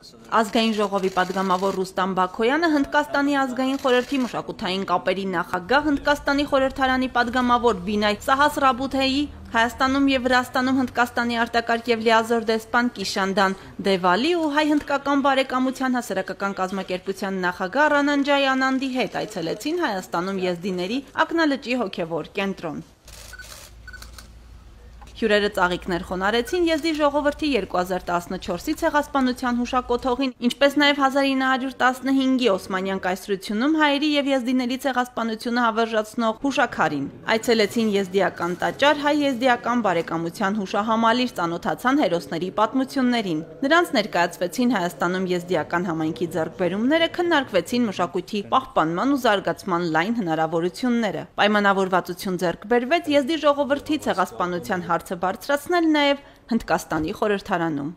Ազգային ժողովի падգամավոր Ռուստամ Բաքոյանը, Հնդկաստանի ազգային խորհրդի մշակութային կապերի նախագահ, Հնդկաստանի խորհրդարանի падգամավոր Բինայ Սահասրաբութեի, Հայաստանում եւ Վրաստանում Հնդկաստանի արտակարգ եւ լիազոր դեսպան Կիշանդան Դևալի ու հայ-հնդկական բարեկամության հասարակական կազմակերպության նախագահ Ռանանջայ Անանդի հետ այցելեցին Հայաստանում եզդիների ակնալճի հոգեվոր կենտրոն։ Հյուրերը ծաղիկներ խոնարեցին եզդի ժողովրդի 2014-ի ցեղասպանության հուշակոթողին, ինչպես նաև 1915-ի Օսմանյան կայսրությունում հայերի եւ եզդիների ցեղասպանությունը հավերժացնող հուշաքարին։ Այցելեցին եզդիական տաճար, հայ-եզդիական բարեկամության հուշահամալիր, ծանոթացան հերոսների պատմություններին։ Նրանց ներկայացվեցին Հայաստանում եզդիական համայնքի ձեռքբերումները, քննարկվեցին մշակույթի պահպանման ու զարգացման լայն հնարավորությունները։ Պայմանավորվածություն ձեռք բերվեց եզդի ժողովրդի ցեղասպանության հարցը բարձրացնել նաև Հնդկաստանի խորհրդարանում։